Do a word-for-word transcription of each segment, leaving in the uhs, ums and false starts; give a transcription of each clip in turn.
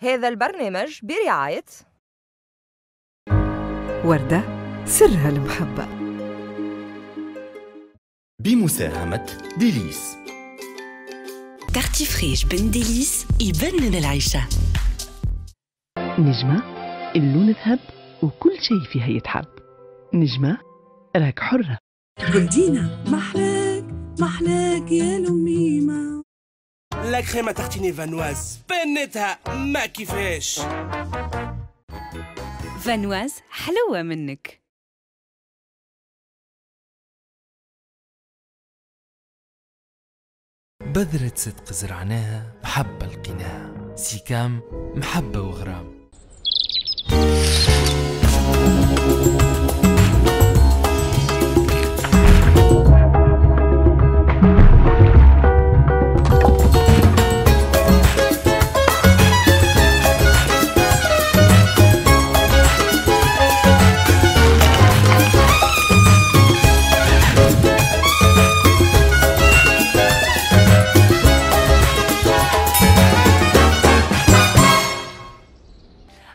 هذا البرنامج برعاية وردة سرها المحبة، بمساهمة ديليس. Tarti fraîche بن ديليس يبنن العيشة. نجمة اللون ذهب وكل شيء فيها يتحب. نجمة راك حرة. جولدينا محلاك محلاك يا لميمة. la crème à tartiner فانواز بنتها ما كيفاش. فانواز حلوة منك. بذرة صدق زرعناها محبة لقيناها، سيكام محبة وغرام.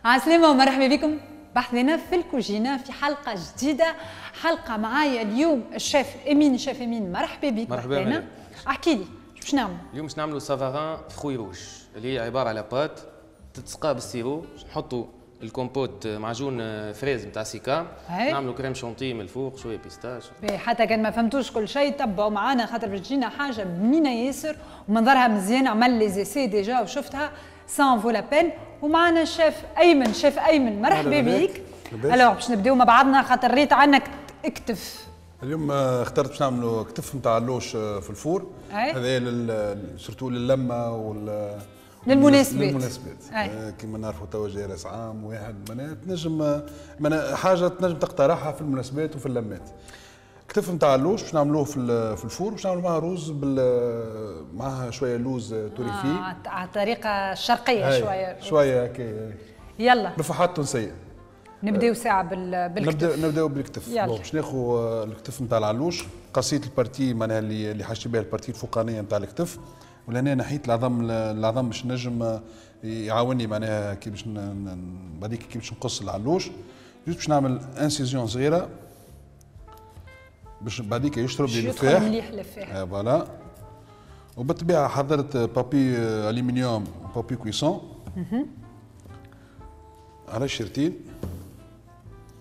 عسلامة ومرحبا بكم بحثنا في الكوجينة في حلقة جديدة. حلقة معايا اليوم الشيف امين. الشيف امين مرحبا بك. مرحبا بك. احكي لي باش نعمل اليوم؟ باش نعملوا savarin fruits rouges اللي هي عبارة على pâte تتسقى بال sirop، نحطوا الكومبوت معجون fraise نتاع سيكام، نعملوا crème chantilly من الفوق، شوية pistache. حتى كان ما فهمتوش كل شيء تبعوا معانا خاطر باش تجينا حاجة بنينه ياسر ومنظرها مزيان. عمل les essais déjà وشفتها ça en vaut la peine. ومعنا الشيف ايمن. شيف ايمن مرحبا بك. alors باش نبداو مع بعضنا خاطر ريت عنك اكتف. اليوم اخترت باش نعملوا كتف نتاع علوش في ال four. هذا surtout للمه وال للمناسبات. للمناسبات كيما نعرفوا توا جاي راس عام واحد، معناها تنجم حاجة تنجم تقترحها في المناسبات وفي اللمات. كتف نتاع علوش باش نعملوه في في ال four، باش نعملوا معها روز بال معها شوية لوز torréfié آه على الطريقة الشرقية شوية شوية هكا. يلا نفحات تونسية. نبداو ساعة بالكتف. نبداو نبداو بالكتف. باش ناخذ الكتف نتاع العلوش، قصيت ال partie معناها اللي اللي حاشي بها ال partie الفوقانيه نتاع الكتف، ولهنا نحيت العظم العظم باش نجم يعاوني معناها كي باش بعديك كي باش نقص العلوش. juste باش نعمل incision صغيرة باش بعديك يشرب لي الفاح مليح الفاح. آه voilà. وبالطبيعه حضرت papier aluminium و papier cuisson على الشرتين.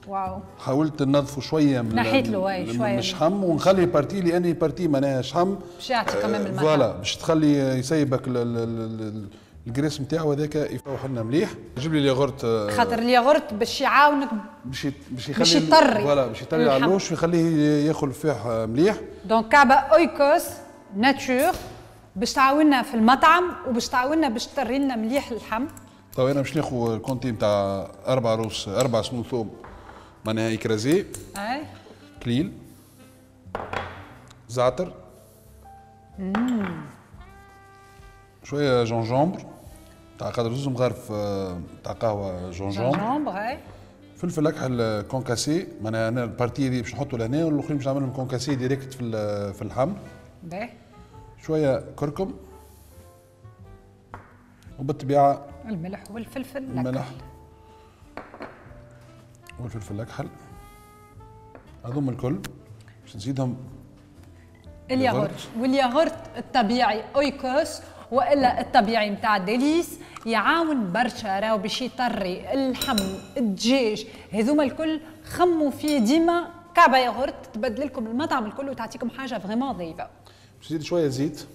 واو. حاولت ننظفوا شوية من نحيت له شوية من الشحم ونخلي partie لان partie معناها شحم باش يعطي كمان المطعم. voilà باش تخلي يسيبك ال graisse نتاعو هذاك يفوح لنا مليح. جيب لي الياغورت خاطر الياغورت باش يعاونك باش باش يخلي باش يطري voilà باش يطري العلوش ويخليه ياكل الفاح مليح. donc كعبه اويكوس nature باش تعاوننا في المطعم وباش تعاوننا باش تطري لنا مليح اللحم. طيب انا باش ناخذ ال quantité نتاع اربع روس اربع سنون ثوم معناها écrasés. اي كليل زعتر شوية gingembre تاع قدر زوز مغارف تاع قهوة gingembre. gingembre اي. فلفل اكحل concassé معناها انا ال partie هذه باش نحطه لهنا والاخرين باش نعملهم concassé direct في في اللحم. باهي. شوية كركم وبالطبيعه الملح والفلفل الاكحل. الملح والفلفل الاكحل هذوما الكل باش نزيدهم الياغورت. والياغورت الطبيعي اويكوس والا الطبيعي نتاع ديليس يعاون برشا راهو باش يطري اللحم الدجاج هذوما الكل. خموا فيه ديما كعبه ياغورت تبدل لكم المطعم الكل وتعطيكم حاجة vraiment ضيفه. باش نزيد شوية زيت.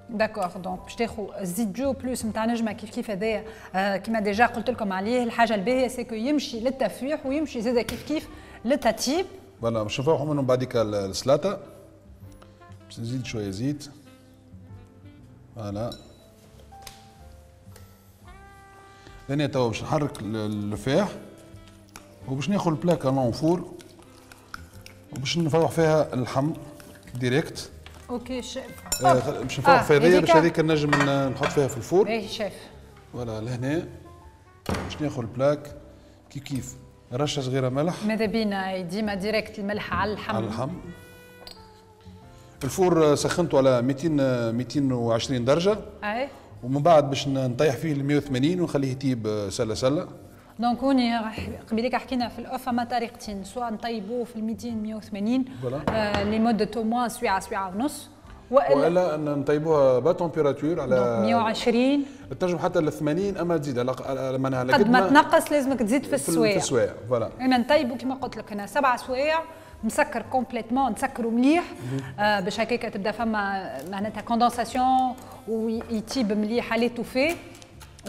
d'accord donc باش تاخذ الزيت جو بلوس نتاع نجمه كيف كيف هذايا آه كيما déjà قلت لكم عليه. الحاجة الباهيه c'est que يمشي للتفويح ويمشي زاده كيف كيف للتطيب. voilà باش نفوحوا منهم بعديك السلطة. باش نزيد شوية زيت. voilà لهنا توا باش نحرك الفاح وباش ناخذ ال plaque long four وباش نفوح فيها اللحم direct. OK chef. آه باش نفوح آه فيها هذيا باش هذيك نجم نحط فيها في ال four. باهي chef. voilà لهنا باش ناخذ ال plaque كيف كيف رشه صغيرة ملح. ماذا بينا ديما direct الملح على اللحم. على اللحم. ال four سخنته على مئتين مئتين وعشرين درجه. اي. ومن بعد باش نطيح فيه ل مية وثمانين ونخليه يطيب سله سله. donc هوني قبيلك حكينا في ال off فما طريقتين، سواء نطيبوه في مئتين مية وثمانين آه لمدة au moins سويعه سويعه ونص، والا نطيبوها basse température على مية وعشرين، تنجم حتى ل ثمانين اما تزيد على معناها قد ما تنقص لازمك تزيد في السوايع. في السوايع voilà. انا نطيبو كيما قلت لك انا سبع سوايع مسكر complètement، نسكرو مليح آه باش هكاك تبدا فما معناتها condensation ويطيب مليح على l'étouffée،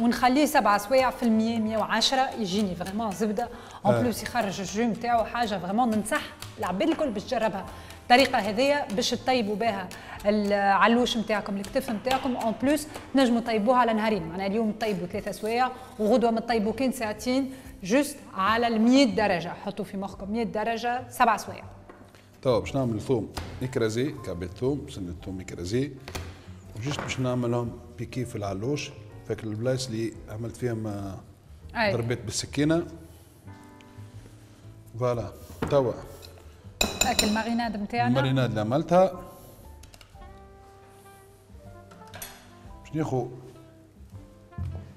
ونخليه سبع سوايع في المية مية وعشرة يجيني vraiment زبدة. en plus يخرج ال jus نتاعو حاجة vraiment ننصح العباد الكل باش تجربها الطريقة هذيا باش تطيبوا بها العلوش نتاعكم الكتف نتاعكم. en plus تنجموا تطيبوها على نهارين، معناها اليوم تطيبوا ثلاثة سوايع وغدوه ما تطيبوا كان ساعتين، juste على ال مية درجه. حطوا في مخكم مية درجه سبع سوايع. توا باش نعمل ثوم écrasé، كعبة ثوم سنة ثوم écrasé، و juste باش نعملهم piquer في العلوش فاك البلايص اللي عملت فيهم ضربات بالسكينة. voilà توا هاك ال marinade نتاعنا، ال marinade اللي عملتها باش ناخذ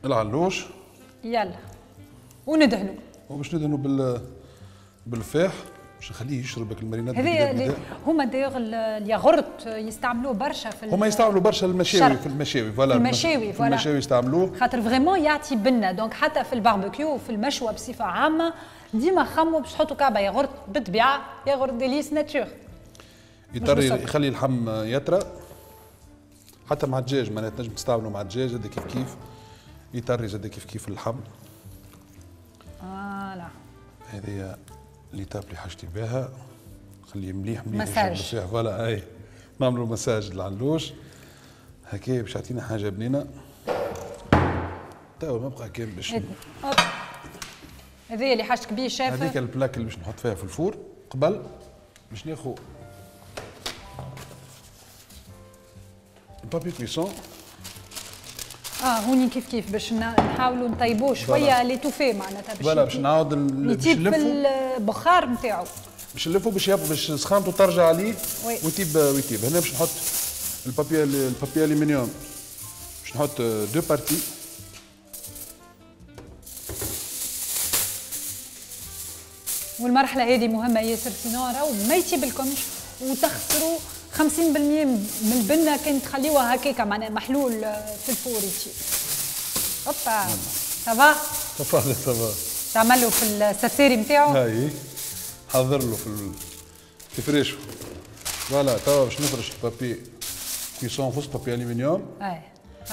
العلوش يلا وندهنو، وباش ندهنو بال بالفاح باش نخليه يشرب ال marinade. هذه هما d'ailleurs ال yaourt يستعملوه برشا في هما يستعملوا برشا المشاوي، في المشاوي voilà، المشاوي voilà المشاوي يستعملوه خاطر vraiment يعطي بنه. donc حتى في الباربيكيو وفي المشوى بصفة عامة ديما خموا باش تحطوا كعبه ياغورت، بالطبيعة yaourt Délice nature يطري يخلي اللحم يطرى حتى مع الدجاج، معناها تنجم تستعملوا مع الدجاج زاد كيف كيف يطري زاد كيف كيف اللحم. voilà هذه l'étape اللي حاجتي بها، خليه مليح مليح مساج voilà اي نعملوا مساج للعلوش هكا باش يعطينا حاجة بنينه. توا ما بقى كان باش هذه اللي حاجتك بيه شاف، هذيك ال plaque اللي باش نحط فيها في ال four قبل باش ناخذ ال papier cuisson. اه هوني كيف كيف باش نحاولوا نطيبوه شوية l'étouffée معناتها باش voilà باش نعاود باش نلفو البخار نتاعو، باش نلفو باش باش سخانته ترجع عليه ويطيب ويطيب. هنا باش نحط ال papier ال papier aluminium، باش نحط deux parties. والمرحلة هذه مهمة ياسر، sinon راهو ما يطيبلكمش وتخسروا خمسين بالمية من البنه كان تخليوها هكاكا معناها محلول في ال four يطيب. هوبا ça va؟ ça va ça va. تعمل له في السفساري نتاعو؟ هاي حضر له في ال... في فريشو. voilà توا باش نفرش ال papier cuisson فوق papier aluminium. اي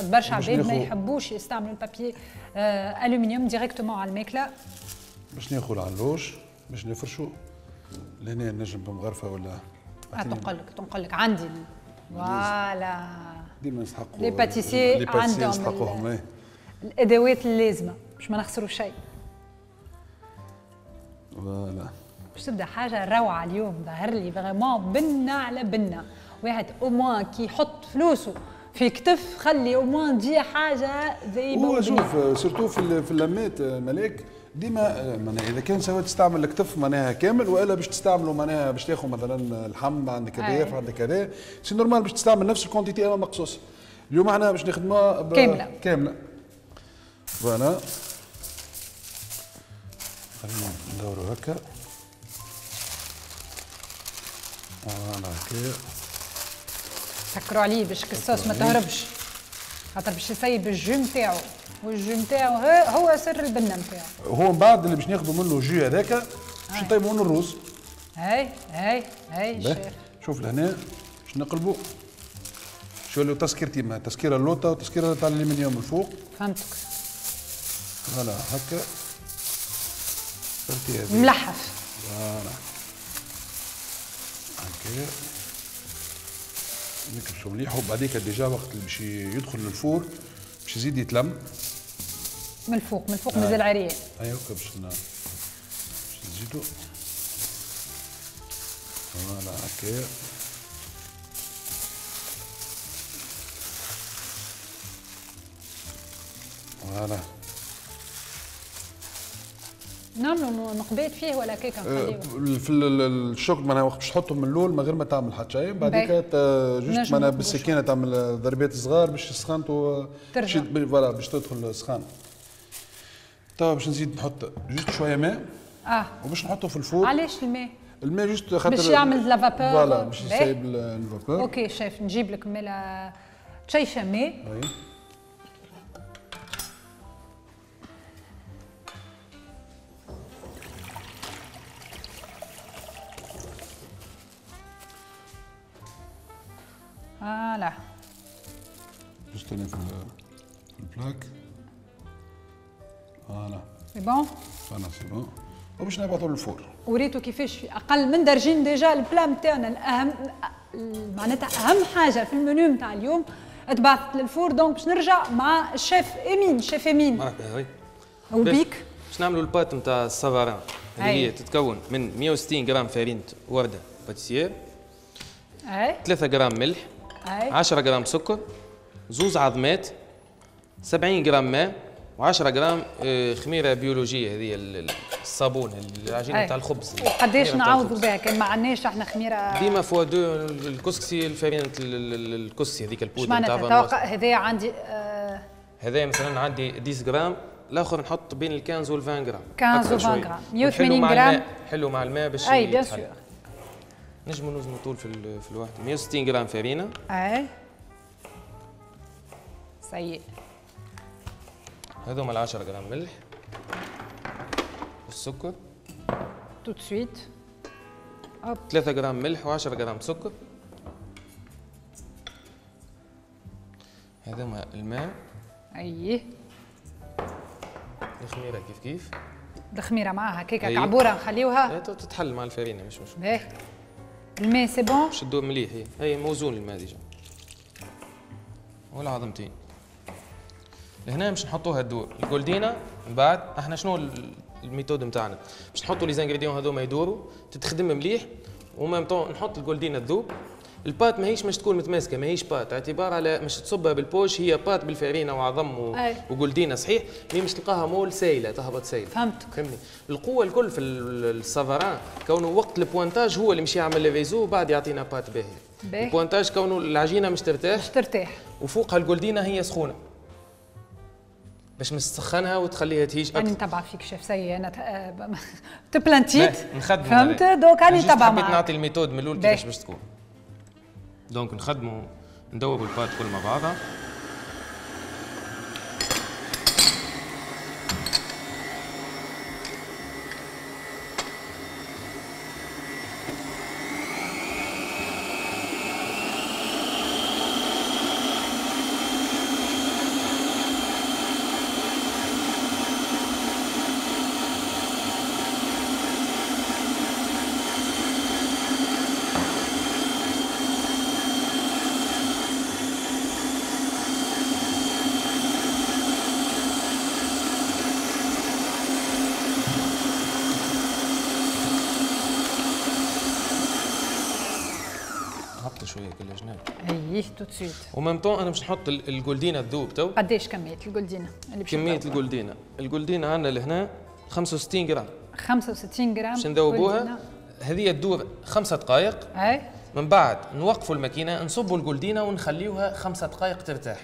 برشا عباد ما يحبوش يستعملوا ال papier آه aluminium directement على الماكلة. باش ناخذ العلوش باش نفرشو لهنا نجم بمغرفه ولا آه تنقلك تنقلك عندي voilà ديما نسحقوا les pâtissiers عندهم نسحقوهم الادوات اللازمة باش ما نخسروا شيء. voilà باش تبدا حاجة روعه اليوم ظهر لي vraiment بنه على بنه. واحد au moins كي يحط فلوسه في كتف خلي au moins تجي حاجة زي هو شوف surtout في في اللمات ملاك ديما معناها اذا كان سواء تستعمل الكتف معناها كامل والا باش تستعمله معناها باش تاخذ مثلا اللحم عندك كذا عندك كذا c'est normal باش تستعمل نفس ال quantité اما مقصوص. اليوم احنا باش نخدموها كاملة كاملة. voilà خلينا ندورو هكا voilà هكا سكروا عليه باش الصوص ما تهربش خاطر باش يسيب ال jus نتاعو، وال jus نتاعو هو سر البنه نتاعو. هو من بعد اللي باش ناخذوا منه ال jus هذاك باش نطيبوا منه الروز. هاي هاي هاي شيف شوف لهنا باش نقلبوا شو له تسكيرتي ما تسكيره اللوطه وتسكيره تاع الالومنيوم الفوق. فهمتك. voilà هكا ملحف. voilà هكا نكبسو مليح وبعديك déjà وقت اللي باش يدخل لل four باش يزيد يتلم من الفوق، من الفوق مازال عريان. ايوا باش باش نزيدو voilà هكا voilà. نعملوا نقبات فيه ولا كيكة نخليوه؟ في الشوك معناها وقت باش تحطهم من الاول من غير ما تعمل حتى شيء، بعديك juste معناها بالسكينة تعمل ضربات صغار باش سخنتو ترجع voilà باش تدخل سخان. توا باش نزيد نحط juste شوية ماء اه وباش نحطه في ال four. علاش الماء؟ الماء juste خاطر باش يعمل la vapeur. voilà باش يسيب ال vapeur. OK chef نجيب لك مالا شيشة ماء. oui voilà juste في ال plaque. voilà c'est bon voilà c'est bon وباش نبعثوا لل four. وريتو كيفاش في اقل من درجين déjà ال plat نتاعنا الاهم معناتها اهم حاجة في المنيو نتاع اليوم تبعثت لل four. donc باش نرجع مع الشيف امين. شيف امين مرحبا. oui وبيك باش نعملوا ال pâte نتاع ال savarin اللي هي تتكون من مية وستين غرام فرينة ورده pâtissière، اي ثلاثة غرام ملح، عشرة غرام سكر، زوز عظمات، سبعين غرام ماء، وعشرة غرام خميره بيولوجية هذه الصابون العجينة نتاع الخبز. وقداش نعوضوا بها كان ما عندناش احنا خميره؟ ديما fois deux الكسكسي الفرينة الكسكسي هذيك البودره نتاع معناتها هذايا عندي آه هذايا مثلا عندي عشرة غرام، الاخر نحط بين ال خمسة عشر وال عشرين غرام. خمسة عشر و عشرين غرام مية وثمانين غرام. حلو مع الماء باش اي bien sûr نجموا نوزنوا طول في في الواحد. مية وستين غرام فرينه. اي سيء. هذوما العشرة غرام ملح والسكر tout de suite. ثلاثة غرام ملح وعشرة غرام سكر. هذوما الماء. اي الخميره كيف كيف. الخميره معاها كيكة كعبوره نخليوها تتحل مع الفرينة مش مشكل. باهي الماء c'est bon باش تدور مليح. هي هي موزون الماء déjà. والعظمتين لهنا باش نحطوها تدور الجولدينا. من بعد احنا شنو ال méthode نتاعنا؟ باش نحطوا les ingrédients هذوما يدوروا تتخدم مليح و même temps نحط الجولدينا تذوب. ال pâte ماهيش مش تكون متماسكة، ماهيش pâte اعتبار على مش تصبها بال poche، هي pâte بالفارينه وعظم و... وجولدينا صحيح، mais مش تلقاها molle سايله تهبط سايله. فهمتك. فهمني القوة الكل في ال savarin كونه وقت ال pointage هو اللي مش يعمل le réseau وبعد يعطينا pâte باهيه. ال pointage كونه العجينة مش ترتاح مش ترتاح وفوقها الجولدينا هي سخونة باش مستخنها وتخليها تهيج اكثر. راني نتبع فيك شيف سي انا تبلانتيت فهمت donc راني نتبع معاك. حبيت نعطي ال méthode من الاول كيفاش باش تكون. donc نخدموا ندوبوا ال pâte كل مع بعضها. شوية كل جناب. اي tout de suite. و même temps انا باش نحط الجولدينا تذوب تو. قداش كمية الجولدينا اللي باش كمية الجولدينا، الجولدينا عندنا لهنا خمسة وستين غرام. خمسة وستين غرام باش نذوبوها. هذه تدور خمسة دقائق. اي من بعد نوقفوا الماكينة، نصبوا الجولدينا ونخليوها خمسة دقائق ترتاح.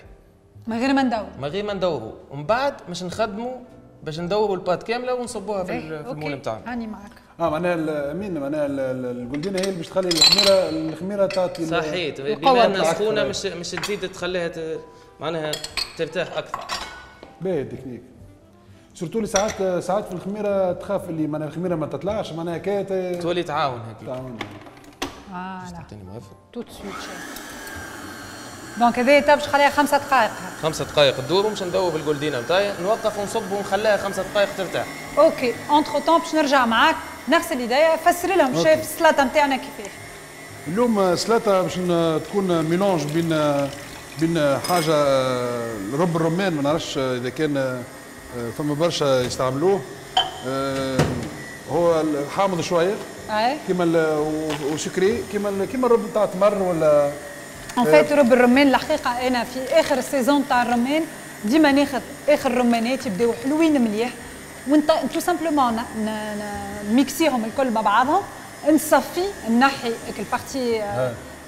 من غير ما ندور. من غير ما ندوروا، ومن بعد باش نخدموا باش ندوروا ال pâte كاملة ونصبوها في, في ال moule نتاعنا. هاني معك. اه معناها امين معناها الجولدينا هي اللي باش تخلي الخميره الخميره تعطي صحيت بما انها سخونة مش مش تزيد تخليها ت... معناها ترتاح اكثر. باهي ال technique surtout اللي ساعات ساعات في الخميره تخاف اللي معناها الخميره ما تطلعش معناها كي تولي تعاون هكا. تعاون. voilà tout de suite. donc هذه باش نخليها خمسة دقائق. خمسة دقائق تدور ومش ندوب الجولدينا نتاعي، نوقف ونصب ونخليها خمسة دقائق ترتاح. OK entre-temps باش نرجع معاك نغسل يديا، فسر لهم شيف السلطة نتاعنا كيفاش. اليوم سلطة باش تكون mélange بين بين حاجة رب الرمان، ما نعرفش اذا كان فما برشا يستعملوه، هو حامض شوية اي كيما و sucré كيما كيما الرب نتاع التمر ولا en fait رب الرمان. الحقيقة انا في اخر ال saison تاع الرمان ديما ناخذ اخر رمانات يبداو حلوين مليح وانت tout simplement نميكسيهم الكل مع بعضهم، نصفي نحي ال partie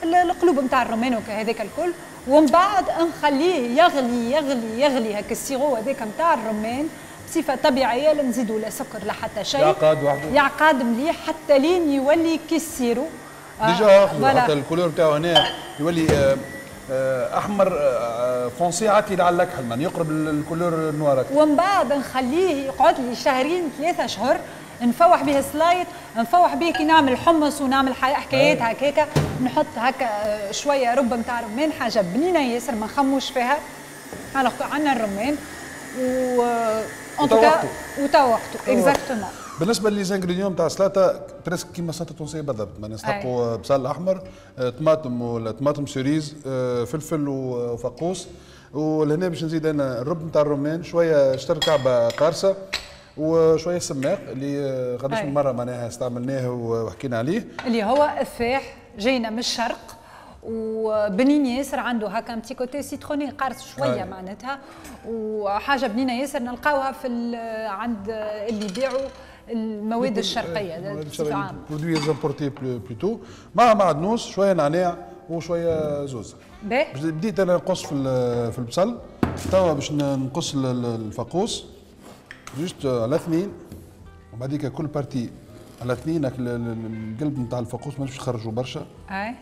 القلوب نتاع الرومان وهذاك الكل، ومن بعد نخليه يغلي يغلي يغلي هكا ال sirop هذاك نتاع الرمان بصفة طبيعية، لا نزيدوا لا سكر لا حتى شيء، يعقد وحده، يعقد مليح حتى لين يولي كي ال sirop déjà آه حتى ال couleur نتاعو هنا يولي آه آه احمر آه foncé عاتي على الاكحل، يعني يقرب ال couleur noir. ومن بعد نخليه يقعد لي شهرين ثلاثة اشهر، نفوح به سلايط، نفوح به كي نعمل حمص ونعمل حكايات هكاكا، نحط هكا شوية رب نتاع رمان، حاجة بنينه ياسر ما نخموش فيها. alors عندنا الرمان و en tout cas وتوا وقته exactement. بالنسبة les ingrédients تاع السلطة presque كيما السلطة التونسية بالضبط، ما نستحقوا بصل احمر، طماطم ولا طماطم cerise، فلفل وفقوس، ولهنا باش نزيد انا الرب نتاع الرمان، شوية شطر كعبه قارصه، وشوية سماق اللي قداش من مرة معناها استعملناه وحكينا عليه، اللي هو افاح جاينا من الشرق وبنين ياسر، عنده هكا petit côté citronné قارص شوية معناتها، وحاجه بنينه ياسر نلقاوها في عند اللي يبيعوا المواد الشرقية بصفة عامة، produits importés plutôt، مع معدنوس، شوية نعناع وشوية زوزه. بديت انا نقص في في البصل، توا باش نقص الفقوس juste على اثنين، وبعديك كل partie على اثنين. القلب نتاع الفقوس مانيش نخرجوا برشا،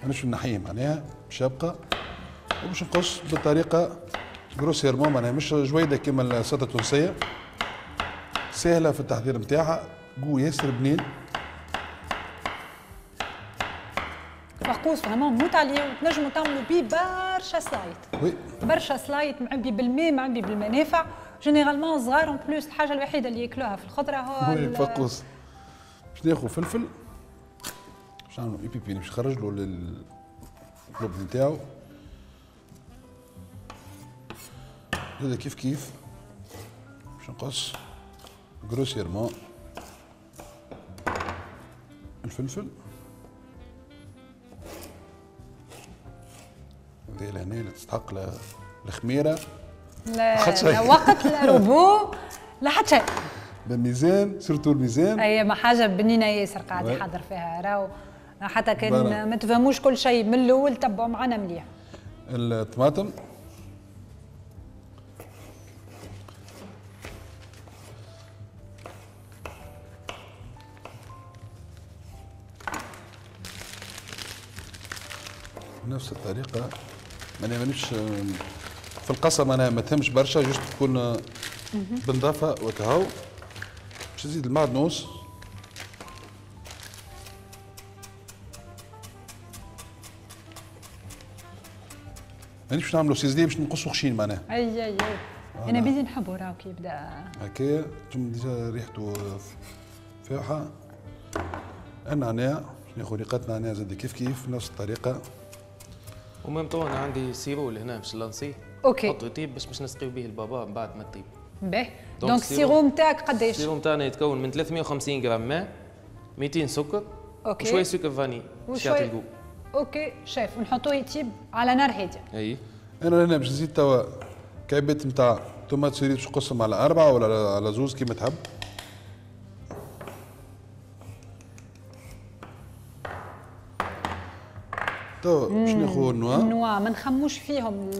مانيش نحيه معناها باش يبقى، وباش نقص بطريقة grossièrement معناها مش جويده كيما السلطة التونسية، سهلة في التحضير نتاعها، goût ياسر بنين. فقوس vraiment نموت عليه، وتنجموا تعملوا بيه برشا سلايط، oui برشا سلايط معبي بالماء معبي بالمنافع، généralement صغار en plus الحاجة الوحيدة اللي ياكلوها في الخضرة هو الفقوس. باش ناخذ فلفل باش نعملو اي بي باش نخرج له القلوب نتاعو هذا كيف كيف، باش نقص grossièrement الفلفل هذه لهنا اللي تستحق الخميره، لا, لا وقت لا روبو لا حتى شيء، بالميزان surtout الميزان. اي ما حاجة بنينه ياسر قاعد يحضر فيها راهو، حتى كان ما تفهموش كل شيء من الاول تبعوا معنا مليح. الطماطم بنفس الطريقة، مانيش في القصة معناها ما تهمش برشا، juste تكون بنظافه وكهو. باش نزيد المعدنوس، مانيش باش نعملو ciselé باش نقصو خشين معناها. اي اي اي انا بيدي نحبو راهو كي يبدا هكايا، ثم déjà ريحته فاوحه. النعناع ناخذ ريقات نعناع زاد كيف كيف نفس الطريقة. و même temps انا عندي sirop لهنا باش نلانسيه. OK. نحطو يطيب باش باش نسقيو به البابا من بعد ما تطيب. باهي. donc ال sirop نتاعك قداش؟ ال sirop نتاعنا يتكون من ثلاثمية وخمسين غرام ماء، مئتين سكر، OK، وشوية سكر vanillé باش يعطي ال goût. OK chef، ونحطوه يطيب على نار هادية. اي. انا هنا باش نزيد توا كعبات نتاع tomates cerises باش نقسم على اربعة ولا على زوز كيما تحب. تو باش ناخذ ال noix. ال noix ما نخموش فيهم،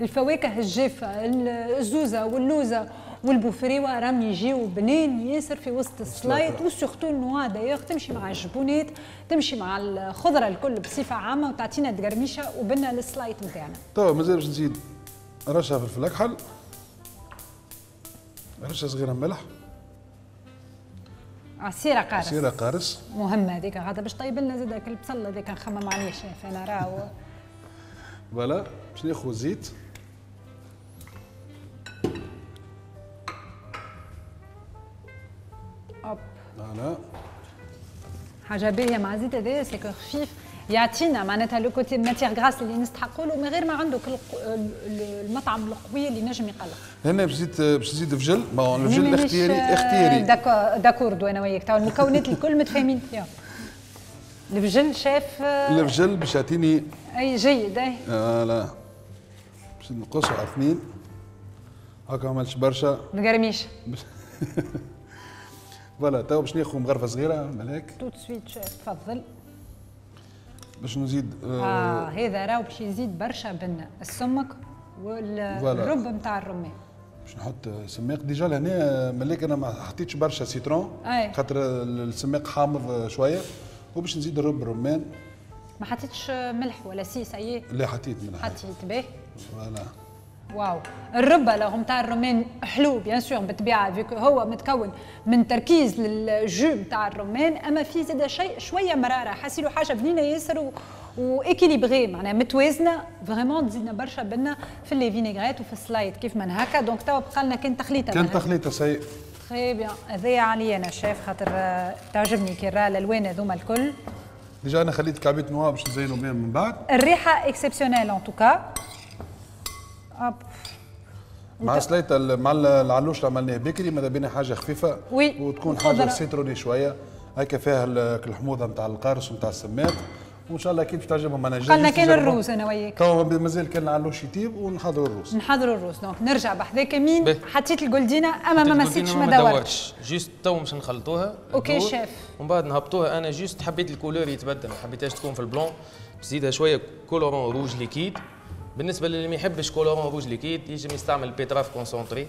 الفواكه الجافه، الزوزه واللوزه والبوفريوه راهم يجيو بنين ياسر في وسط السلايط، و surtout ال noix d'ailleurs تمشي مع الجبونات، تمشي مع الخضرة الكل بصفة عامة، وتعطينا تقرميشه وبنا للسلايط نتاعنا. تو مازال باش نزيد رشه فلفل اكحل، رشه صغيرة ملح، عصيره قارص. عصيره قارص مهمة هذيك، هذا باش طيب لنا زاد البصل هذاك نخمم عليه شاف انا راهو. voilà باش ناخذ زيت، hop voilà حاجة باهيه مع الزيت هذايا c'est que خفيف يعطينا معناتها le côté matière grasse اللي نستحقوا له من غير ما عنده المطعم القوي اللي نجم يقلق. هنا باش نزيد باش نزيد فجل، bon الفجل اختياري اختياري. d'accord انا وياك تو المكونات الكل متفاهمين فيهم. الفجل شاف الفجل باش يعطيني اي جيد اي. voilà باش نقصوا على اثنين هكا ما عملتش برشا. نقرميش. voilà تو باش ناخذ مغرفه صغيرة ملاك tout de suite chef، تفضل. باش نزيد اه, آه هذا راهو باش يزيد برشا بنه السمك والرب نتاع الرمان. باش نحط سماق déjà لهنا ملاك، انا ما حطيتش برشا citron خاطر السماق حامض شوية، وباش نزيد الرب الرمان. ما حطيتش ملح ولا سي سايي؟ لا حطيت ملح. حطيت به. voilà واو الربة لو نتاع الرمان حلو bien sûr بالطبيعة vu que هو متكون من تركيز لل jus نتاع الرمان، اما في زاد شيء شوية مرارة، حاسيلو حاجة بنينه ياسر و... و équilibrée معناها متوازنة vraiment، تزيدنا برشا بنه في les vinaigrettes وفي السلايد كيف من هكا. donc توا بقى لنا كان تخليطه. كان تخليطه ça y est très bien. هذايا عليا انا شيف خاطر تعجبني كي راه الالوان هذوما الكل. déjà انا خليت كعبيه noix باش نزينوا بهم من بعد. الريحة exceptionnelle en tout cas. مع سليطه مع العلوش اللي عملناه بكري ماذا بينا حاجة خفيفة oui وتكون حاجة citronnée شوية هكا فيها الحموضة نتاع القارص ونتاع السماق، وان شاء الله كيف باش تعجبهم. انا قلنا كان الروز انا وياك تو مازال كان العلوش يطيب ونحضروا الروز. نحضروا الروز donc نرجع بحذاك مين حطيت الجولدينا اما ما مسيتش ما دورتش juste تو باش نخلطوها. OK chef. ومن بعد نهبطوها. انا juste حبيت ال couleur يتبدل، ما حبيتهاش تكون في ال blanc، نزيدها شوية colorant rouge liquide. بالنسبة للي ما يحبش colorant rouge liquide يجم يستعمل betterave concentrée،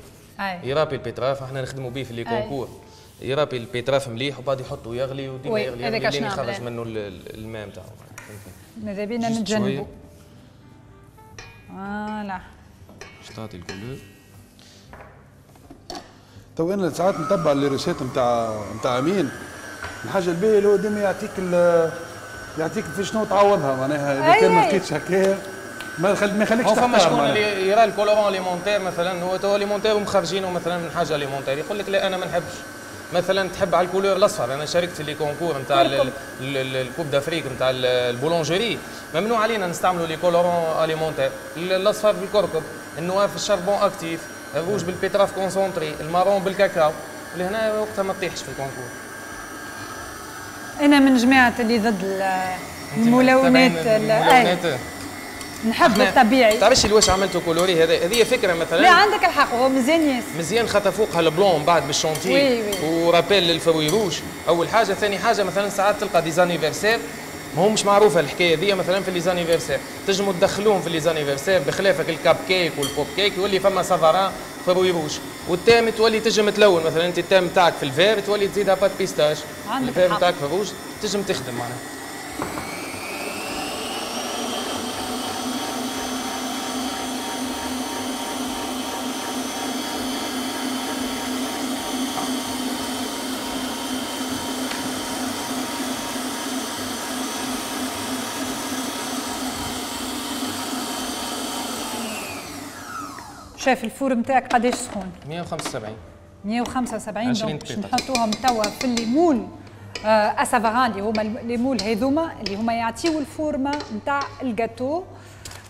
يرابي ال betterave، احنا نخدموا به في les concours، يرابي ال betterave مليح وبعد يحطه يغلي وديما يغلي يغلي لين يخرج منه الماء نتاعو. ماذا بينا نتجنبوا. voilà باش تعطي ال couleur. تو انا ساعات نتبع les recettes نتاع نتاع امين، الحاجة الباهيه اللي هو ديما يعطيك يعطيك في شنو تعوضها معناها اذا كان ما لقيتش هكايا ما يخليكش تختار. فما شكون اللي يرى ال colorant alimentaire مثلا، هو تو alimentaire ومخرجينه مثلا من حاجة alimentaire، يقول لك لا انا ما نحبش. مثلا تحب على ال couleur الاصفر، انا شاركت في les concours نتاع ال coupe d'Afrique نتاع ال boulangerie، ممنوع علينا نستعملوا les colorants alimentaires، الاصفر بالكركم، ال noir في ال charbon actif، ال rouge بال betterave concentrée، ال marron بالكاكاو، لهنا وقتها ما تطيحش في ال concours. انا من جماعة اللي ضد الملونات. الملونات نحب الطبيعي. تعرفش علاش عملته coloré هذا؟ هذه فكرة مثلا. لا عندك الحق هو مزيان ياسر. مزيان خاطر فوقها ال blanc بعد بال chantilly و rappel لل fruits rouges، اول حاجة. ثاني حاجة مثلا ساعات تلقى des anniversaires ما هو مش معروفة الحكاية دي، مثلا في les anniversaires تنجموا تدخلوهم في les anniversaires بخلافك ال cupcake وال pop cake يولي فما savarin fruits rouges، وال thème تولي تنجم تلون مثلا انت ال thème تاعك في ال vert تولي تزيدها pâte pistache، ال vert تاعك في الروج تنجم تخدم معناها. شايف ال four نتاعك قداش سخون؟ مية وخمسة وسبعين. مية وخمسة وسبعين. donc باش نحطوهم توا في les moules آه à savarin اللي هما les moules هذوما اللي هما يعطيو ال forme نتاع الجاتو.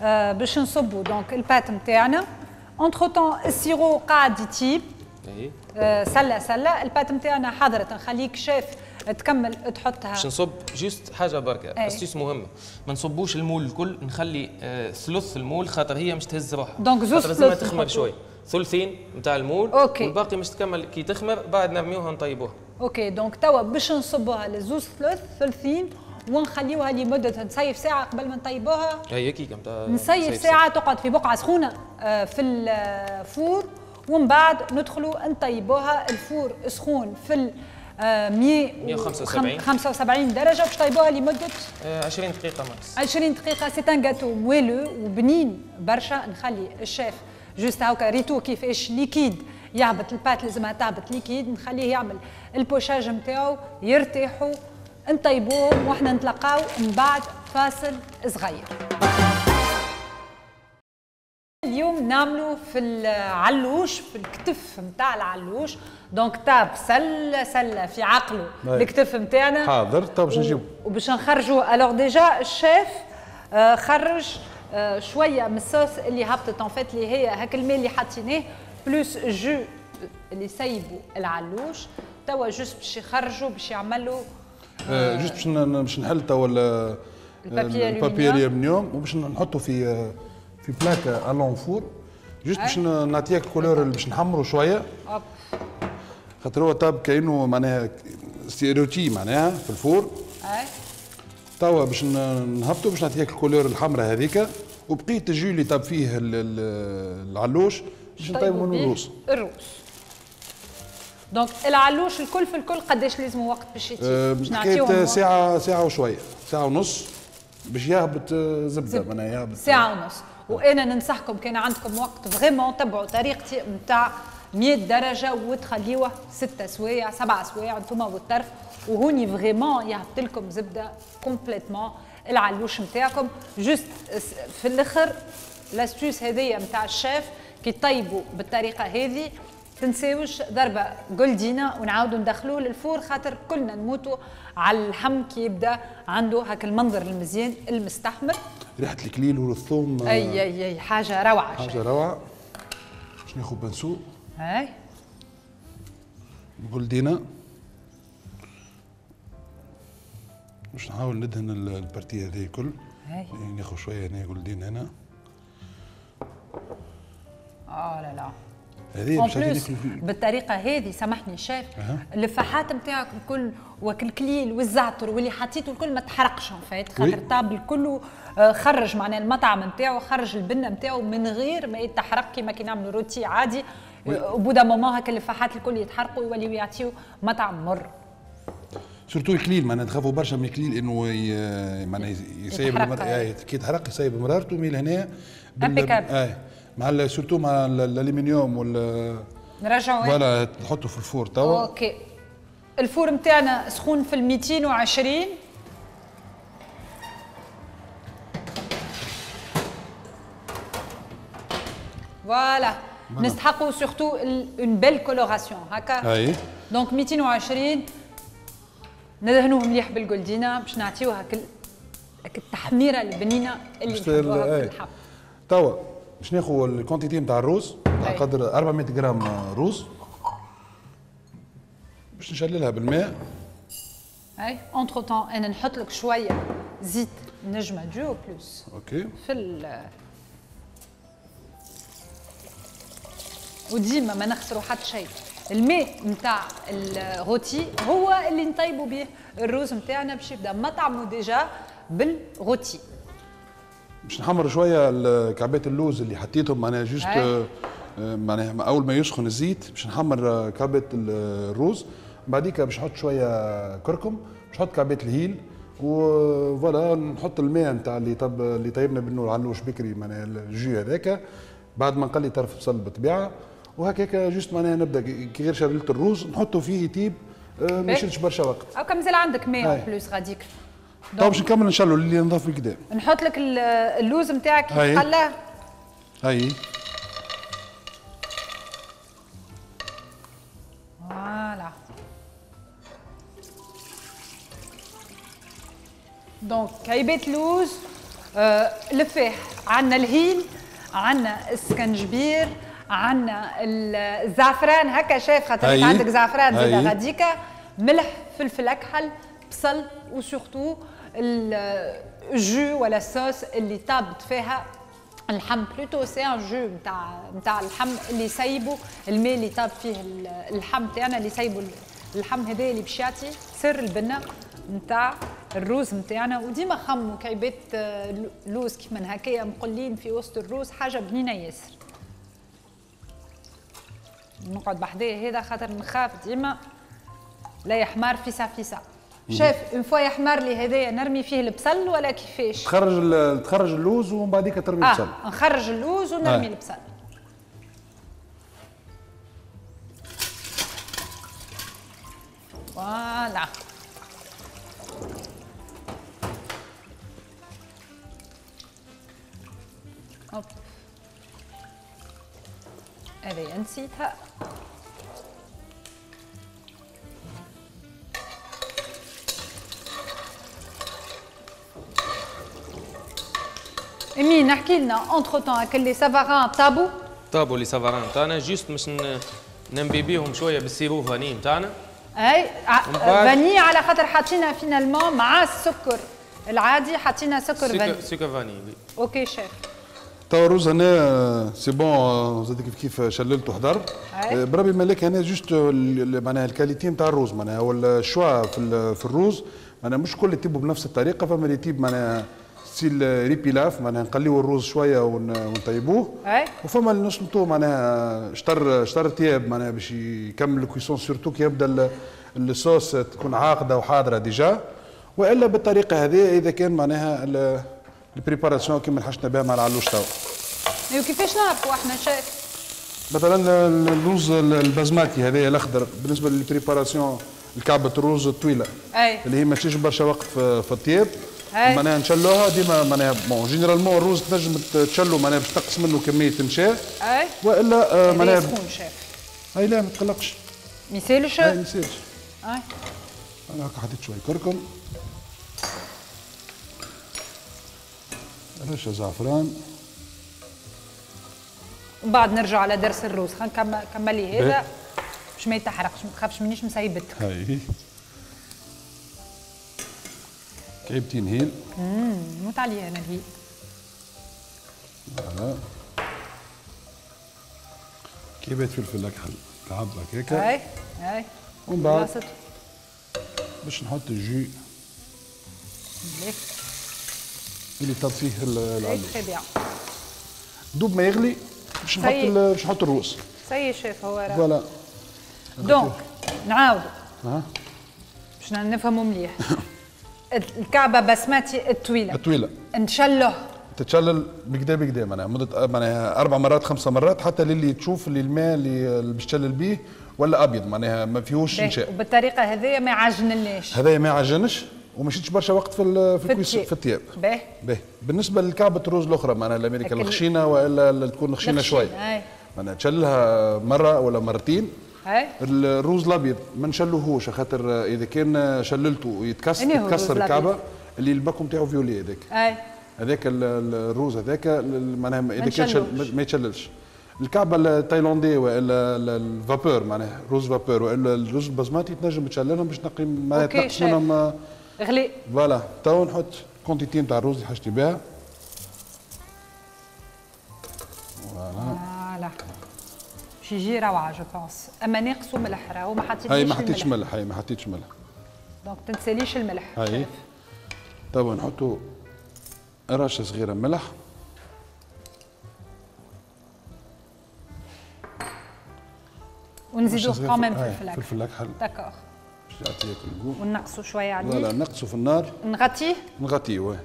آه باش نصبوا donc ال pâte نتاعنا. entre-temps ال sirop قاعد يطيب. آه سله سله ال pâte نتاعنا حضرت، نخليك شيف تكمل تحطها. باش نصب juste حاجة بركة astuce مهمة، ما نصبوش ال moule الكل، نخلي آه ثلث ال moule خاطر هي مش تهز روحها. donc زوز لازم تخمر شوي، ثلثين نتاع ال moule. OK. والباقي مش تكمل كي تخمر بعد نرميوها نطيبوها. OK donc توا باش نصبوها لزوز ثلث ثلثين ونخليوها لمدة نصيف ساعة قبل ما نطيبوها. هي كيكة نتاع نصيف ساعة تقعد في بقعة سخونة آه في ال four، ومن بعد ندخلوا نطيبوها. ال four سخون في مية وخمسة وسبعين درجة، باش طيبوها لمدة عشرين دقيقة max. عشرين دقيقة. c'est un gâteau moelleux وبنين برشا. نخلي ال chef juste هاكا ريتو كيفاش liquide يهبط ال pâte، لازمها تهبط liquide، نخليه يعمل ال pochage نتاعو، يرتاحوا، نطيبوهم واحنا نتلاقاو من بعد فاصل صغير. اليوم نعملوا في العلوش، في الكتف نتاع العلوش. donc طاب سله سله في عقله الكتف نتاعنا حاضر. طب باش نجيبو وباش نخرجوه. alors déjà ال chef آه خرج آه شوية من الصوص اللي هبطت en fait اللي هي هاك الماء اللي حطيناه plus jus اللي سيبوا العلوش. توا juste باش يخرجوا باش يعملوا آه juste باش باش نحل توا ال papier aluminium وباش نحطوا في في plaque à l'enfour، juste باش نعطيك ال couleur اللي باش نحمروا شوية. خاطر هو طاب كانه معناها rôti معناها في ال four. اي توا باش نهبطوا باش نعطيك ال couleur الحمراء هذيك، وبقية ال jus اللي طاب فيه العلوش باش نطيبوا منه الروز. الروز donc العلوش الكل في الكل قداش لازم وقت باش يطيب؟ أه باش نعطيهم ساعة ساعة وشوية، ساعة ونص باش يهبط زبدة معناها يهبط ساعة ونص. وانا ننصحكم كان عندكم وقت vraiment تبعوا طريقتي نتاع مية درجه وتخليوه ستة سوايع سبعة سوايع انتوما والطرف، وهوني vraiment يهبط لكم زبدة complètement العلوش نتاعكم. juste في الاخر l'astuce هذيا نتاع الشيف كي طيبوا بالطريقة هذه تنساوش ضربه جولدينا ونعاودوا ندخلوه لل four، خاطر كلنا نموتوا على اللحم كي يبدا عنده هاك المنظر المزيان المستحمر، ريحه الكليل والثوم. اي اي اي حاجة روعه، حاجة روعه. باش ناخذ pinceau اي جولدينا باش نحاول ندهن ال partie هذه الكل. ناخذ شوية هنا جولدينا هنا. اه لا لا هذه باش بالطريقة هذه سامحني شيف، أه. الفاحات نتاعك الكل وكالكليل والزعتر واللي حطيته الكل ما تحرقش en fait، خاطر طاب الكل خرج معناها المطعم نتاعو، خرج البنه نتاعو من غير ما يتحرق كيما كي نعملوا rôti عادي. au bout d'un moment هكا الفاحات الكل يتحرقوا ويوليو يعطيو مطعم مر. surtout الكليل معناها تخافوا برشا من الكليل انه معناها يسيب المر... كي يتحرق يسيب مرارته، mais لهنا بال... آه. مع surtout مع الالومنيوم وال نرجعوا voilà نحطوا في ال four توا. OK ال four نتاعنا سخون في ال مئتين وعشرين. voilà نستحقوا surtout une belle coloration هكا. اي donc مئتين وعشرين ندهنوه مليح بالجولدينا باش نعطيوه هاك التحميره البنينه اللي نحبوها في اللحم. توا باش ناخذ ال quantité نتاع الروز تاع قدر أربعمية غرام روز باش نشللها بالماء. اي entre-temps انا نحط لك شوية زيت نجمه Duo Plus. OK في ال وديما ما نخسروا حتى شيء، الماء نتاع ال rôti هو اللي نطيبوا به الروز نتاعنا باش يبدا مطعمه déjà بال rôti. باش نحمر شوية كعبات اللوز اللي حطيتهم معناها juste معناها اول ما يسخن الزيت باش نحمر كعبات الروز، بعديك باش نحط شوية كركم، باش نحط كعبات الهيل و voilà نحط الماء نتاع اللي طب اللي طيبنا منه العلوش بكري معناها ال jus هذاك بعد ما نقلي طرف بصل بالطبيعة وهكاك juste معناها نبدا كي غير شرلت الروز نحطه فيه يطيب ما يشدش برشا وقت. او مازال عندك ماء plus غاديك. طيب باش نكمل ان شاء الله اللي نضاف الكدا. نحط لك اللوز نتاعك يتقلى. هاي voilà. donc كعيبات لوز، آه الفاح، عندنا الهيل، عندنا السكنجبير، عندنا الزعفران هكا شايف خاطر عندك زعفران زاد غاديكا، ملح، فلفل اكحل، بصل، و surtout ال jus ولا الصوص اللي طابت فيها اللحم، plutôt c'est un jus نتاع نتاع اللحم اللي سايبوا الماء اللي طاب فيه اللحم تاعنا، اللي سايبوا اللحم هذا اللي باش يعطي سر البنه نتاع الروز نتاعنا. وديما خموا كعيبات لوز كيما هكايا مقلين في وسط الروز، حاجة بنينه ياسر. نقعد بحذاه هذا خاطر نخاف ديما لا يحمر فيسا فيسا. شاف une fois يحمر لي هذايا نرمي فيه البصل ولا كيفاش؟ تخرج تخرج اللوز ومن بعديك ترمي البصل. آه نخرج اللوز ونرمي آه. البصل. voilà. hop هذه نسيتها. امين احكي لنا entre-temps هاك les savarins طابو طابو les savarins تاعنا juste باش نمبيبيهم شوية بال sirop vanille نتاعنا. اي vanille على خاطر حاطينها finalement مع السكر العادي، حاطينها سكر vanille. سكر vanille. OK chef. توا الروز هنا c'est bon زاد كيف كيف شللته وحضر. بربي مالك هنا juste معناها ال qualité نتاع الروز معناها هو ال choix في في الروز معناها مش كل يطيبوا بنفس الطريقة، فما اللي يطيب معناها style riz pilaf معناها نقليو الروز شوية ونطيبوه، وفما اللي نسلطوه معناها شطر شطر طياب معناها باش يكمل ال cuisson surtout كي يبدا الصوص تكون عاقده وحاضره déjà، والا بالطريقة هذه اذا كان معناها ال préparation كيما حشنا بها مع العلوش توا. ايوا كيفاش نعرفوا احنا شايف؟ مثلا الروز البازماتي هذايا الاخضر بالنسبة لل préparation الكعبة الروز الطويلة أي. اللي هي ما تشيش برشا وقت في, في الطياب معناها نشلوها ديما معناها bon généralement الروز تنجم تشلو معناها باش تقص منه كمية نشا اي والا معناها سخون شاف. اي لا ما تقلقش ما يسالش؟ اي ما يسالش. اي انا هكا حطيت شوية كركم رشه زعفران ومن بعد نرجع على درس الروز. خلينا نكمل هذا باش ما يتحرقش، ما تخافش مانيش مسيبتك. هاي كعيبتين هيل. امم نموت عليها انا الهيل. voilà كعيبات فلفل اكحل كعب هكاكا. اي اي ومن بعد باش نحط ال jus مليح اللي طاب فيه العلوش. très bien. دوب ما يغلي باش نحط باش نحط الروز. ça y est chef هو راه. voilà donc نعاودو أه؟ باش نفهموا مليح. الكعبة بسمتي الطويلة الطويلة نشله تتشلل بكدا بكدا معناها مده معناها اربع مرات خمسة مرات حتى للي تشوف اللي الماء اللي باش تشلل بيه ولا ابيض معناها ما فيهوش نشاء. وبالطريقه هذيا ما يعجنلناش. هذايا ما يعجنش وما شدش برشا وقت في في الكويس في الطياب. باهي باهي. بالنسبة للكعبة الروز الاخرى معناها الامريكا الخشينه والا اللي تكون خشينه شوي معناها تشللها مرة ولا مرتين. هاي الروز الابيض ما نشلوهوش خاطر اذا كان شللته يتكسر يتكسر الكعبة اللي ال paquet نتاعو violet هذاك. اي هذاك الروز هذاك معناها اذا كان شل ما يتشللش. الكعبة التايلاندي والا ال vapeur معناها روز vapeur والا الروز البسماتي تنجم تشللهم باش تنقي معناها تنقص منهم غلي. voilà تو نحط quantité نتاع الروز اللي حاجتي بها. voilà voilà باش يجي روعه je pense. اما ناقصو ملح راهو ما حطيتش هاي ما حطيتش ملح. هاي ما حطيتش ملح donc تنساليش الملح. هاي توا نحطو رشه صغيرة ملح. ونزيدوه quand même فلفل اكحل. فلفل اكحل d'accord باش يعطيك ال goût. ونقصوا شوية عليه. voilà نقصوا في النار. نغطيه نغطيه.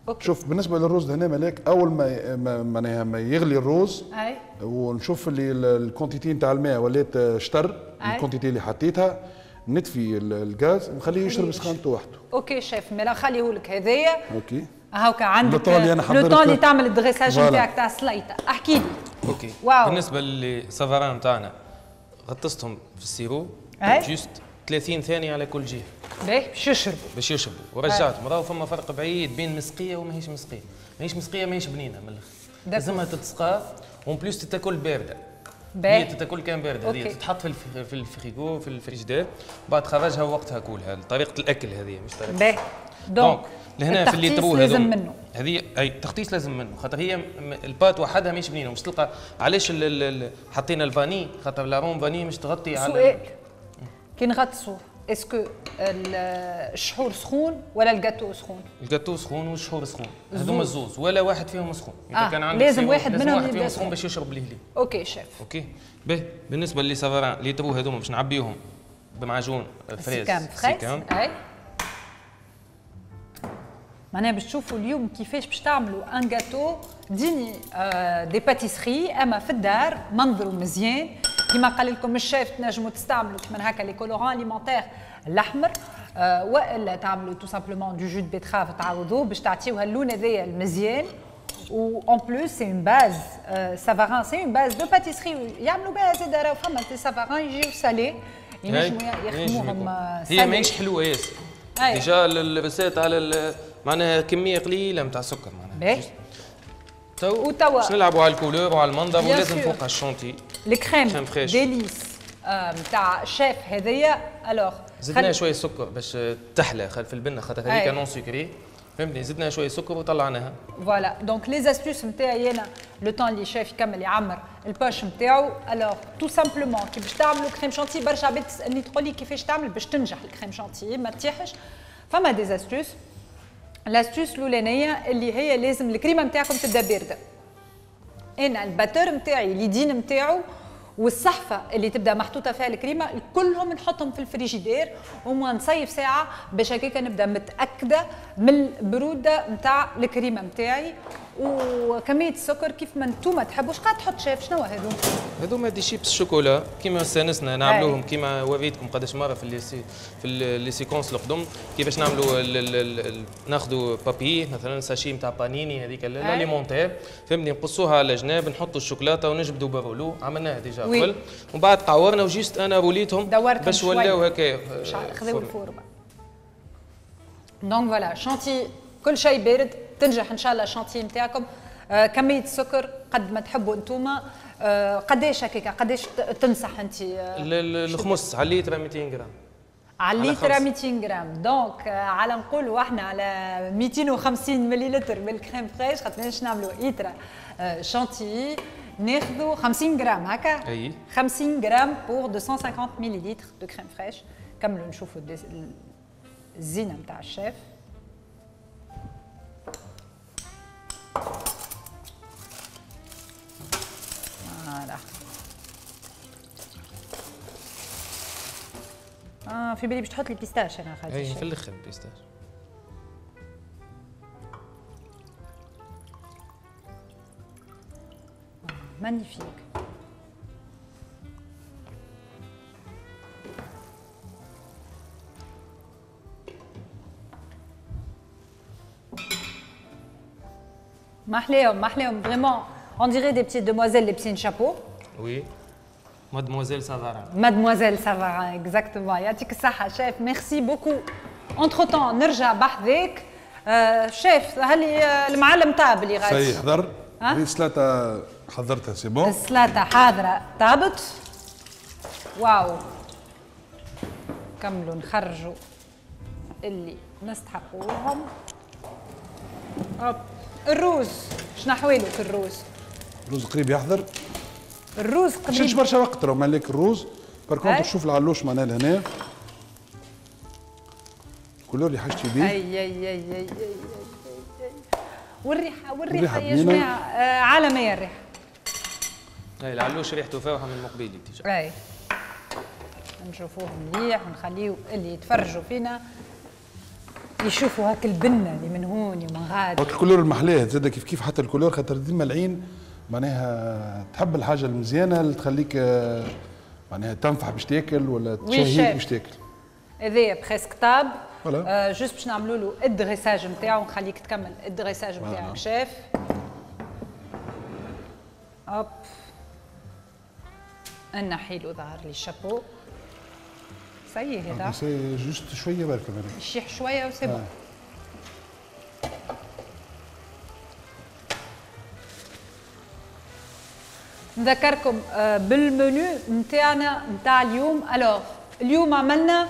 OK. شوف بالنسبة للروز هنا ملاك اول ما معناها ما يغلي الروز اي ونشوف اللي ال quantité نتاع الماء ولات شطر ال quantité اللي حطيتها نطفي الغاز ونخليه يشرب سخانته وحده. OK chef مالا خليه لك هذايا. OK هاكا عندك le temps اللي تعمل ال dressage نتاعك تاع السليطه. احكي لي. OK واو. بالنسبة لل savarins نتاعنا غطستهم في ال sirop juste ثلاثين ثانية على كل جهة. باهي باش يشربوا باش يشربوا ورجعتهم. راهو فما فرق بعيد بين مسقيه وماهيش مسقيه، ماهيش مسقيه ماهيش بنينه من الاخر. لازمها تتسقى و en plus تتاكل باردة. باهي هي تتاكل كان باردة هذه تتحط في في الفريغو في الفريجدير بعد تخرجها وقتها كولها. طريقه الاكل هذه مش طريقه. باهي donc لهنا في les trous لازم منه هذه اي التغطيس لازم منه خاطر هي ال pâte وحدها ماهيش بنينه. مش تلقى علاش حطينا ال vanille خاطر l'arôme vanille مش تغطي على. سؤال كي نغطسوه est-ce que الشحور سخون ولا الجاتو سخون؟ الجاتو سخون والشحور سخون هذوما الزوز ولا واحد فيهم سخون. اذا آه. كان عندك لازم واحد لازم منهم واحد فيهم سخون باش يشرب ليه ليه. OK chef. OK باهي بالنسبة les savarins les trous هذوما باش نعبيهم بمعجون fraise سيكام. اي معناها باش تشوفوا اليوم كيفاش باش تعملوا un gâteau digne de pâtisserie اما في الدار منظره مزيان كما قال لكم الشيف. تنجموا تستعملوا كيما هكا les colorants alimentaires الاحمر آه والا تعملوا tout simplement du jus de betterave تعوضوه باش تعطيوها اللون هذايا المزيان. و en plus c'est une base savarin c'est une base de pâtisserie يعملوا بها زاد. راهو فما des savarins يجيو salés ينجموا يخدموهم. هي ماهيش حلوة ياسر déjà ال recette على معناها كمية قليله نتاع سكر معناها. تو وتوا باش نلعبوا على ال couleur وعلى المنظر ولازم فوقها ال chantilly ال crème Délice نتاع شيف هذيا. alors زدنا شوية سكر باش تحلى في البنه خاطر هذيك non sucrée فهمتني؟ زدنا شوية سكر وطلعناها. voilà donc les astuces نتاعي انا le temps اللي شاف يكمل يعمر ال poche نتاعو. alors tout simplement كي باش تعملوا crème chantilly، برشا عباد تسالني تقول لي كيفاش تعمل باش تنجح ال crème chantilly ما تطيحش. فما des astuces. l'astuce الاولانية اللي هي لازم الكريمة نتاعكم تبدا باردة. انا ال batteur نتاعي اليدين نتاعو والصحفه اللي تبدا محطوطة فيها الكريمة كلهم نحطهم في الفريجيدير وما نصيف ساعة باش هكاك نبدا متاكدة من البرودة نتاع الكريمة نتاعي. وكمية السكر كيف ما انتوما تحبوش. قاعد تحط شاف شنو هذو؟ هذوما des chips chocolat كيما استانسنا نعملوهم، كيما وريتكم قداش مرة في les في les séquences القدم كيفاش نعملوا. ناخذوا papier مثلا sachet نتاع بانيني هذيك l'alimentaire، فهمتني؟ نقصوها على جناب، نحطوا الشوكولاتة ونجبدوا ب rouleau، عملناها déjà قبل ومن بعد قعورنا و juste انا روليتهم باش ولاو هكا خذوا ال forme. donc voilà chantilly كل شيء بارد تنجح ان شاء الله الشانتي نتاعكم. آه كمية السكر قد ما تحبوا انتوما. آه قداش هكاك قداش تنصح انت؟ آه الخمس على الليتر مئتين غرام. على الليتر مئتين غرام. donc آه على نقولوا احنا على مئتين وخمسين مليلتر من ال crème fraîche خاطر باش نعملوا ايترا آه شانتي ناخذوا خمسين غرام هكا. اي خمسين غرام pour مئتين وخمسين مليلتر de crème fraîche. كملوا نشوفوا الزينة نتاع الشيف. voilà اه في بالي باش تحط لي pistache انا خاطر. اي في الاخر pistache. magnifique. محليهم محليهم vraiment. On dirait des petites demoiselles لابسين chapeau. Oui. Mademoiselle Savarin. Mademoiselle Savarin, exactement. يعطيك الصحة chef, merci beaucoup. Entre-temps نرجع بحذاك. شيف هل المعلم طاب اللي غادي؟ صحيح حضر. السلطة حضرتها c'est bon. السلطة حاضرة طابت. واو. كملوا نخرجوا اللي نستحقوهم. hop. الروز شنو حوالك الروز؟ الروز قريب يحضر. الروز قريب مشيتش برشا وقت راهو مالك الروز. par contre شوف العلوش معناها لهنا ال couleur اللي حاجتي بيه. اي اي اي اي اي اي والريحه والريحه يا جماعة آه عالمية الريحة. اي العلوش ريحته فاوحه من مقبيلي déjà. اي نشوفوه مليح ونخليو اللي يتفرجوا فينا يشوفوا هاك البنه اللي من هون ومن غادي. هاك ال couleur المحلاه زاد كيف كيف حتى ال couleur خاطر ديما العين معناها تحب الحاجة المزيانه اللي تخليك معناها تنفح باش تاكل ولا تشهيك باش تاكل. هذايا presque طاب. آه juste باش نعملوا له ال dressage نتاعو، نخليك تكمل ال dressage نتاعك chef. hop نحي له ظهر لي ال chapeau. ça y est هذا c'est juste شوية برك يشيح شوية و c'est bon. نذكركم بالمنيو نتاعنا نتاع اليوم. alors اليوم عملنا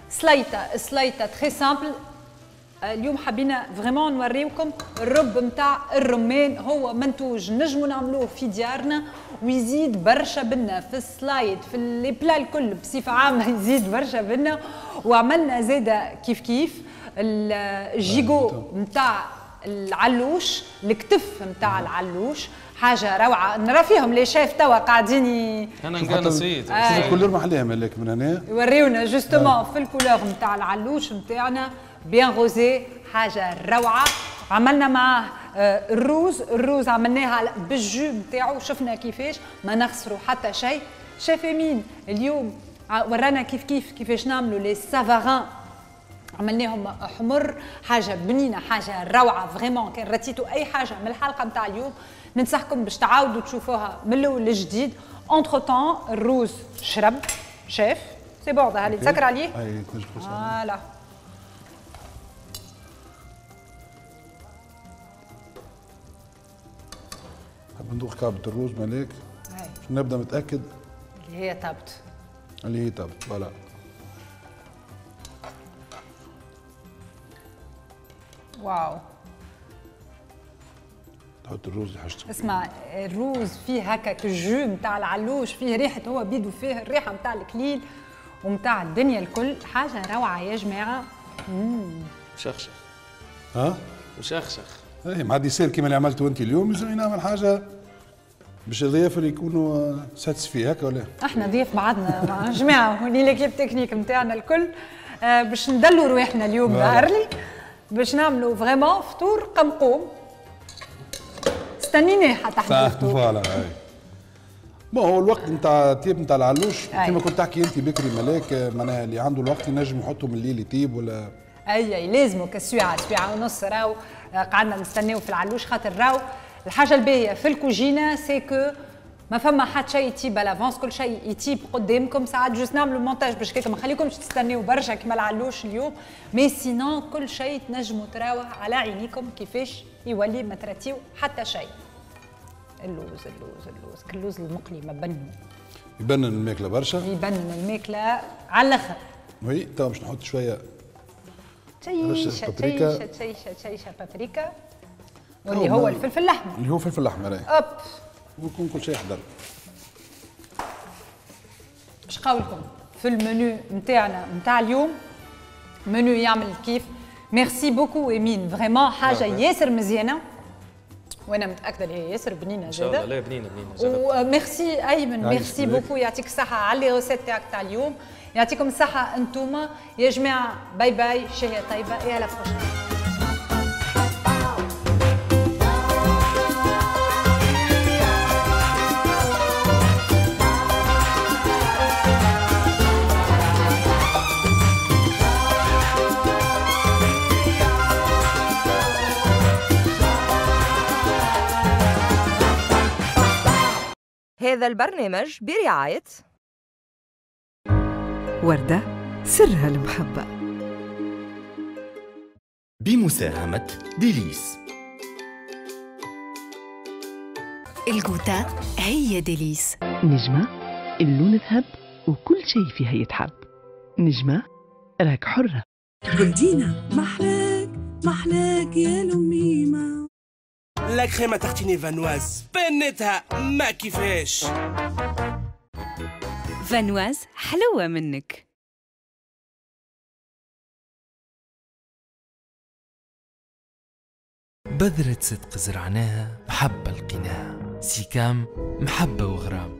سلايطه، سلايطه très simple. اليوم حبينا vraiment نوريوكم الرب نتاع الرمان، هو منتوج نجمو نعملوه في ديارنا ويزيد برشا بنا في السلايد في les plats الكل بصفة عامة يزيد برشا بنا. وعملنا زاده كيف كيف ال gigot نتاع العلوش، الكتف نتاع العلوش، حاجة روعه. نرى فيهم les chefs توا قاعدين ي... انا نقال نسيت شوف ال couleur محليها مالك من هنا يوريونا justement في ال couleur نتاع العلوش نتاعنا bien rosé، حاجة روعه. عملنا معاه الروز، الروز عملناها بال jus نتاعو، شفنا كيفاش ما نخسروا حتى شيء. شيف امين اليوم ورانا كيف كيف كيفاش نعملوا les savarins، عملناهم حمر، حاجة بنينه، حاجة روعه vraiment. كان رتيتو اي حاجة من الحلقة نتاع اليوم ننصحكم باش تعاودوا تشوفوها من الاول للجديد. entre-temps الروز شرب chef c'est bon ظهر لي تسكر عليه. اي voilà نحب ندوق كعبة الروز مالك باش نبدا متاكد اللي هي طابت، اللي هي طابت voilà. واو. تحط الروز اللي حاجتك. اسمع الروز فيه هكا ال jus نتاع العلوش، فيه ريحه، هو بيدو فيه الريحة نتاع الكليل ومتاع الدنيا الكل، حاجة روعه يا جماعة. امم مشخشخ. ها؟ مشخشخ. اي مع dessert كيما اللي عملته انت اليوم لازم نعمل حاجة باش الضياف اللي يكونوا satisfaits هكا ولا؟ احنا ضياف بعضنا مع جماعة هوني l'équipe technique نتاعنا الكل، آه باش ندلوا رواحنا اليوم ظهر لي باش نعملوا vraiment فطور قمقوم. استنيناه حتى احنا الفطور. voilà اي. bon هو الوقت نتاع الطيب نتاع العلوش كيما كنت تحكي انت بكري ملاك، معناها اللي عنده الوقت ينجم يحطه من الليل يطيب ولا اي اي لازمو كسويعه سويعه ونص راهو قعدنا نستناو في العلوش، خاطر راهو الحاجة الباهيه في الكوجينه c'est que ما فما حتى شيء يطيب à l'avance، كل شيء يطيب قدامكم. ساعات juste نعملوا مونتاج باش كيك ما نخليكمش تستناو برشا كيما العلوش اليوم، mais sinon كل شيء تنجموا تراوه على عينيكم كيفاش يولي ما تراتيو حتى شيء. اللوز اللوز اللوز، اللوز المقلي ما بنو يبنن الماكلة برشا، يبنن الماكلة على الاخر. oui توا باش نحط شوية تشيشه تشيشه تشيشه تشيشه بابريكا واللي هو الفلفل الاحمر، اللي هو الفلفل الاحمر. hop ويكون كل شيء حضر. اش قولكم في المنيو نتاعنا نتاع اليوم؟ منيو يعمل كيف. merci beaucoup امين، vraiment حاجة ياسر مزيانه وانا متاكدة اللي هي ياسر بنينه زاده. ان شاء الله. لا بنينه بنينه. وميرسي ايمن، merci beaucoup، يعطيك الصحة على les recettes تاعك تاع اليوم. يعطيكم الصحة انتوما يا جماعة. bye bye، شهية طيبة، et à la prochaine. هذا البرنامج برعاية وردة سرها المحبة، بمساهمة ديليس. الجوتا هي ديليس. نجمة اللون ذهب وكل شيء فيها يتحب. نجمة راك حرة. جولدينا محلاك محلاك يا لميمة. la crème à tartiner Vanoise بنتها ما كيفاش. فانواز حلوة منك. بذرة صدق زرعناها محبة لقيناها، سيكام محبة وغرام.